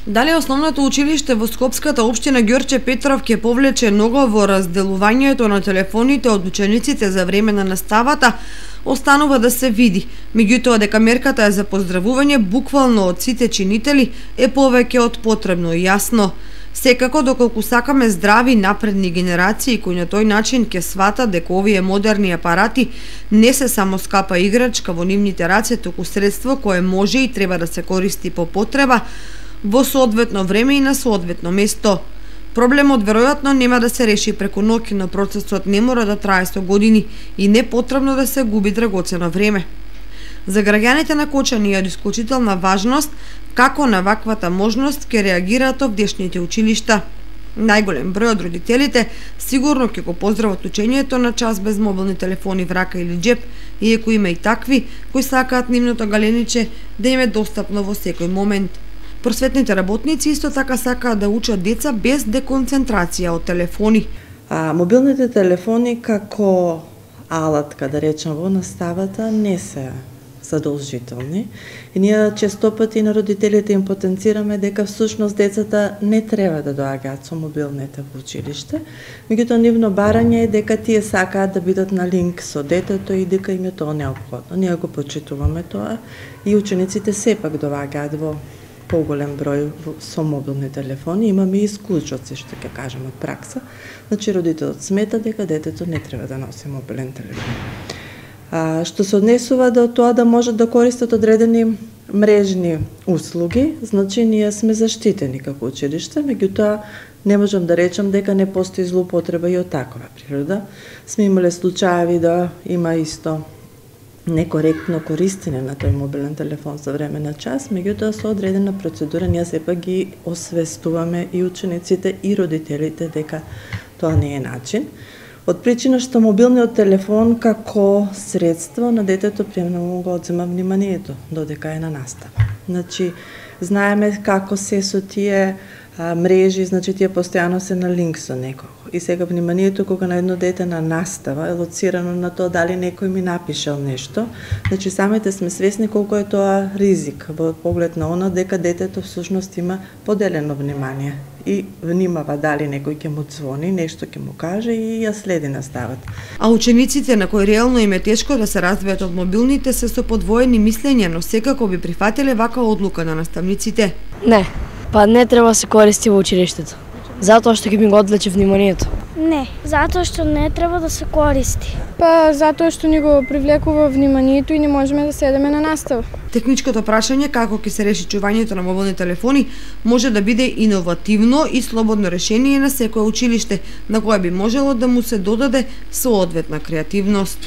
Дали основното училиште во Скопската општина Ѓорче Петров ќе повлече нога во разделувањето на телефоните од учениците за време на наставата, останува да се види. Меѓутоа дека мерката е за поздравување буквално од сите чинители е повеќе од потребно и јасно. Секако, доколку сакаме здрави напредни генерации кои на тој начин ќе сватат дека овие модерни апарати не се само скапа играчка во нивните раце, туку средство кое може и треба да се користи по потреба, во соодветно време и на соодветно место. Проблемот веројатно нема да се реши преку ноќ, но процесот не мора да трае со години и не потребно да се губи драгоцено време. За граѓаните на Кочани е од исклучителна важност како на ваквата можност ќе реагираат овдешните училишта. Најголем број од родителите сигурно ќе го поздрават учењето на час без мобилни телефони в рака или џеп, иако има и такви кои сакаат нивното галениче да им е достапно во секој момент. Просветните работници исто така сакаат да учат деца без деконцентрација од телефони. Мобилните телефони како алатка, да речем, во наставата не се задолжителни. И ние често пати на родителите им потенцираме дека всушност децата не треба да доаѓаат со мобилните во училиште, меѓутоа нивно барање е дека тие сакаат да бидат на линк со детето и дека им е тоа неопходно. Ние го почитуваме тоа и учениците сепак доаѓаат во поголем број со мобилни телефони. Имаме и исклучоци, што ќе кажем од пракса. Значи родителот смета дека детето не треба да носи мобилен телефон. Што се однесува до тоа да можат да користат одредени мрежни услуги, значи ние сме заштитени како училиште, меѓутоа не можам да речам дека не постои злоупотреба и од такова природа. Сме имале случаи да има исто некоректно користење на тој мобилен телефон за време на час, меѓутоа со одредена процедура ние сепак ги освестуваме и учениците и родителите дека тоа не е начин. Од причина што мобилниот телефон како средство на детето премногу го одзема вниманието додека е на настава. Значи, знаеме како се со тие мрежи, значи тие постојано се на линк со некого. И сега вниманието кога на едно дете на настава е лоцирано на тоа дали некој ми напишал нешто, значи самите сме свесни колку е тоа ризик во поглед на она дека детето всушност има поделено внимание и внимава дали некој ќе му звони, нешто ќе му каже и ја следи наставата. А учениците на кои реално им е тешко да се развијат од мобилните се со подвоени мислења, но секако би прифатиле ваква одлука на наставниците. Не, па не треба да се користи во училиштето, затоа што ќе ми го одвлече вниманието. Не, затоа што не треба да се користи. Па затоа што ни го привлекува вниманието и не можеме да седеме на настава. Техничкото прашање како ќе се реши чувањето на мобилни телефони може да биде иновативно и слободно решение на секое училиште, на кое би можело да му се додаде соодветна креативност.